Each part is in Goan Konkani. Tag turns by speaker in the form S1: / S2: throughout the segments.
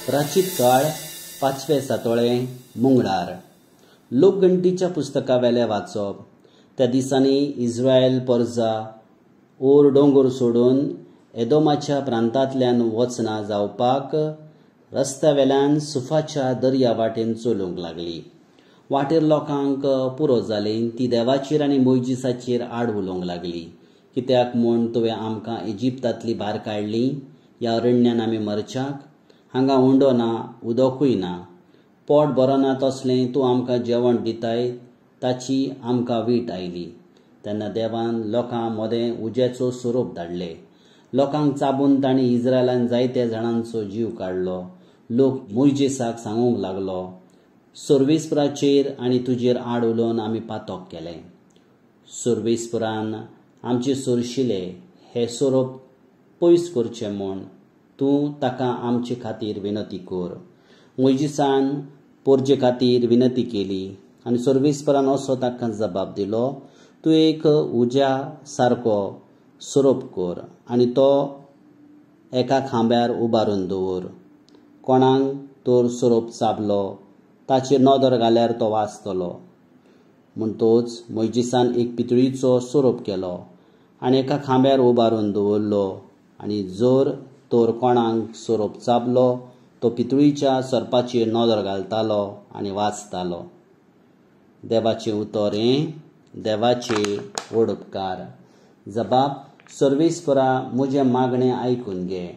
S1: प्राचीत काळ पांचवे सातोळे मुंगळार लोकगणतीच्या पुस्तकावेले वाचप. त्या दिसांनी इस्रायल परजा ओर दोंगर सोडून एदोमाच्या प्रांतांतल्यान वचना जावपाक रस्त्या वेल्यान सुफाच्या दर्या वाटेन चलूंक लागली. वाटेर लोकांक पुरो जाली ती देवाचेर आनी मोयजीसाचेर आड उलोवंक लागली. कित्याक म्हूण तुवें आमकां इजिप्तांतली भायर काडली? ह्या अरण्यान आमी मरच्याक? हांगा उंडो ना, उदकूय ना. पोट बरो ना तसलें तूं आमकां जेवण दिताय ताची आमकां वीट आयली. तेन्ना देवान लोकां मदें उज्याचो सोरोप धाडले. लोकांक चाबून तांणी इस्रायलान जायत्या जाणांचो जीव काडलो. लोक मोयजेसाक सांगूंक लागलो, सर्वेस्पराचेर आनी तुजेर आड उलोवन आमी पातक केलें. सर्वेस्परान आमचे सोरशिले हे सोरोप पयस करचे म्हूण तूं ताका आमचे खातीर विनंती कर. मोयजीसान पोरजे खातीर विनंती केली आनी सर्वेस्परान असो ताका जबाब दिलो, तूं एक उज्या सारको सोरोप कर आनी तो एका खांब्यार उबारून दवर. कोणाक तर सोरोप चाबलो ताचेर नदर घाल्यार तो वाचतलो. म्हणटोच मोयजीसान एक पितळीचो सोरोप केलो आनी एका खांब्यार उबारून दवरलो आनी जर तर कोणाक सोरोप चाबलो तो पितळीच्या सोरपाचेर नदर घालतालो आनी वाचतालो. देवाचें उतर हें देवाचे व्हड उपकार. जबाब: सर्वेस्परा म्हजें मागणें आयकून घे.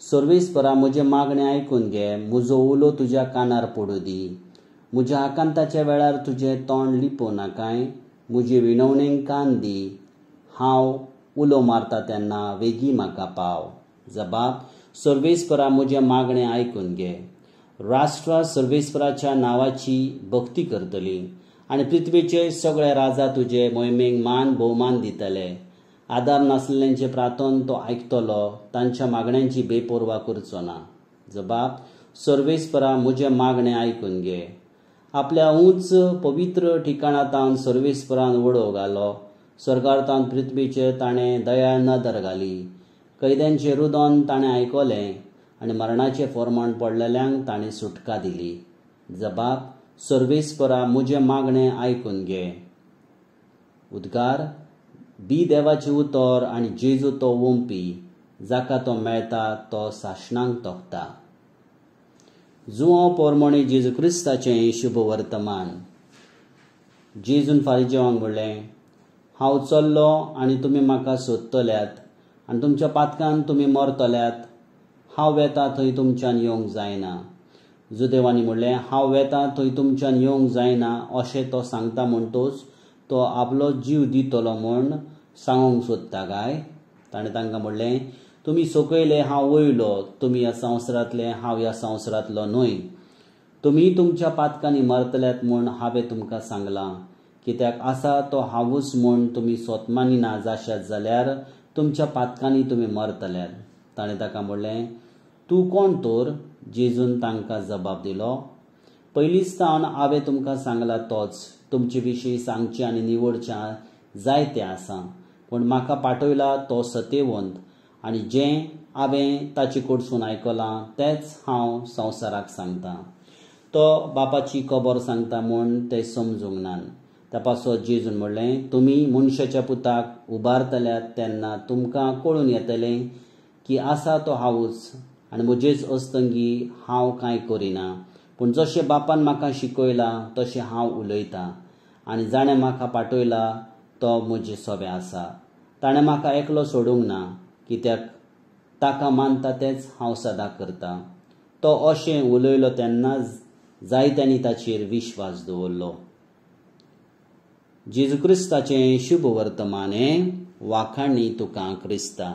S1: सर्वेस्परा म्हजें मागणें आयकून घे. म्हजो उलो तुज्या कानार पडूं दी. म्हज्या आकांताच्या वेळार तुजें तोंड लिपोवं नाकाय. म्हजे विनवणेक कान दी. हांव उलो मारता तेन्ना वेगीं म्हाका पाव. जबाब: सर्वेस्परा म्हजें मागणें आयकून घे. राष्ट्रां सर्वेस्पराच्या नांवाची भक्ती करतली आनी पृथ्वीचे सगळे राजा तुजे मोहिमेक मान भोवमान दितले. आदार नासलेल्यांचें प्रार्थन तो आयकतलो, तांच्या मागण्यांची बेपर्वा करचो ना. जबाब: सर्वेस्परा म्हजें मागणें आयकून घे. आपल्या उंच पवित्र ठिकाणांतावन सर्वेस्परान उडोव घालो. स्वर्गार्थान पृथ्वीचेर ताणें दयाळ नदर घाली. कैद्यांचें रुदन ताणें आयकलें आनी मरणाचें फॉर्माण पडलेल्यांक ताणें सुटका दिली. जबाब: सर्वेस्परा म्हजें मागणें आयकून घे. उद्गार: बी देवाचें उतर आनी जेजू तो ओंपी, जाका तो मेळटा तो सासणाक तोखता. जुआंव पोरमोणे जेजू क्रिस्ताचें शुभ वर्तमान. जेजून फारिजेवांक म्हणलें, हांव चल्लो आनी तुमी म्हाका सोदतल्यात आनी तुमच्या पातकान तुमी मरतल्यात. हांव वेता थंय तुमच्यान येवंक जायना. जुदेवांनी म्हणलें, हांव वेता थंय तुमच्यान येवंक जायना अशें तो सांगता म्हणटोच तो आपलो जीव दितलो म्हूण सांगूंक सोदता काय? ताणें तांकां म्हणलें, तुमी सकयले, हांव वयलो. तुमी ह्या संवसारांतले, हांव ह्या संवसारांतलो न्हय. तुमी तुमच्या पातकांनी मरतल्यात म्हूण हांवें तुमकां सांगलां. कित्याक आसा तो हांवूच म्हूण तुमी स्वत मानिना जाशात जाल्यार तुमच्या पातकांनी तुमी मरतल्यात. ताणें ताका म्हणलें, तूं कोण तर? जेजून तांकां जबाब दिलो, पयलींच सावन हांवें तुमकां सांगलां तोच. तुमचे विशीं सांगचें आनी निवडचें जायतें आसा, पूण म्हाका पाठयला तो सत्यवंत आनी जें हांवें ताचे कडसून आयकलां तेंच हांव संवसाराक सांगतां. तो बापाची खबर सांगता म्हूण ते समजूंक नात. त्या पासत जेजून म्हणलें, तुमी मनशाच्या पुताक उबारतल्यात तेन्ना तुमकां कळून येतलें की आसा तो हांवूच आनी म्हजेच अस्तंगी हांव कांय करिना, पूण जशें बापान म्हाका शिकयलां तशें हांव उलयतां आनी जाणें म्हाका पाठयला तो म्हजे सोबे आसा. ताणें म्हाका एकलो सोडूंक ना, कित्याक ताका मानता तेंच हांव सदां करतां. तो अशें उलयलो तेन्ना जायत्यांनी ताचेर विश्वास दवरलो. जेजू क्रिस्ताचें शुभ वर्तमान हें. वाखाणी तुका क्रिस्ता.